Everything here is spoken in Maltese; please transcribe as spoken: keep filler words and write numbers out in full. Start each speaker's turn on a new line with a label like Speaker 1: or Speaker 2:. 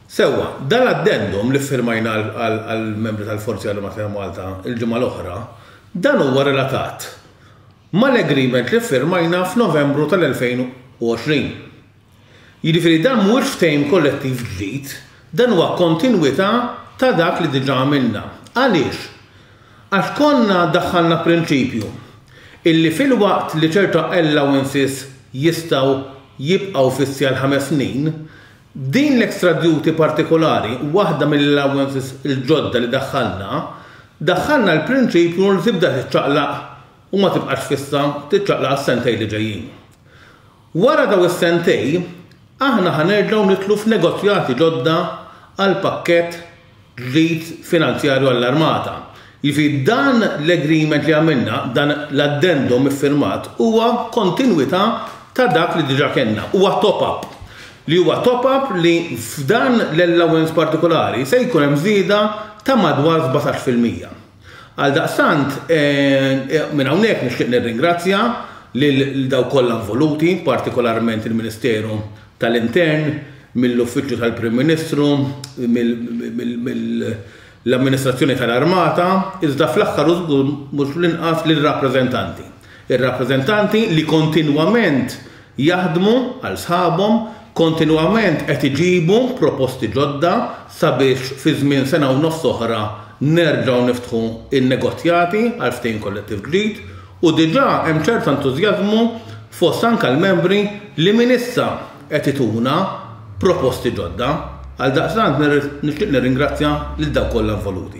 Speaker 1: Sewwa, dan l-addendum li ffirmajna għall-membri tal-Forzi Armati ta' Malta il-ġimgħa l-oħra, dan huwa relatat mal-agreement li ffirmajna f'Novembru tal-elfejn u għoxrin. Jiġifieri dan mhuwiex ftehim kollettiv ġdid, dan huwa kontinwità ta' dak li diġà għamilna. Għaliex? Għax konna daħħalna prinċipju illi filwaqt li ċerta allowances jistgħu jibqgħu fissi għal ħames snin, din l-extra duty partikolari, waħda mill-allowances il-ġodda li daħħalna, daħħalna l-prinċipju li tibda tiċċaqlaq u ma tibqax fissa, tiċċaqlaq għas-sentej li ġejjin. Wara daw is-sentej, aħna ħa nerġgħu nidħlu f'negozjati ġodda għal pakkett ġdid finanzjarju għall-armata. Jiġifieri dan l-agreement li għamilna, dan l-addendum iffirmat, huwa kontinwità ta' dak li diġà kellna, huwa top-up. Li huwa top-up li f'dan l-allowance partikolari se jkun hemm żieda ta' madwar sbatax fil-mija. Għal daqstant, minn hawnhekk nixtieq nirringrazzja lil dawk kollha involuti, partikolarment il-Ministeru tal-Intern, mill-Uffiċċju tal-Prim Ministru, mill-Amministrazzjoni tal-Armata, iżda fl-aħħar u żgur mhux l-inqas lill-rappreżentanti. Ir-rappreżentanti li kontinwament jaħdmu għal sħabhom, kontinwament qed iġibu proposti ġodda sabiex fi żmien sena u nofs oħra nerġgħu niftħu in-negozjati għal ftehim kollettiv ġdid, u diġà hemm ċerta entużjażmu fost anke l-membri li minn issa qed ituna proposti ġodda. Għal daqstant nixtieq nirringrazzja lil dawk kollha involuti.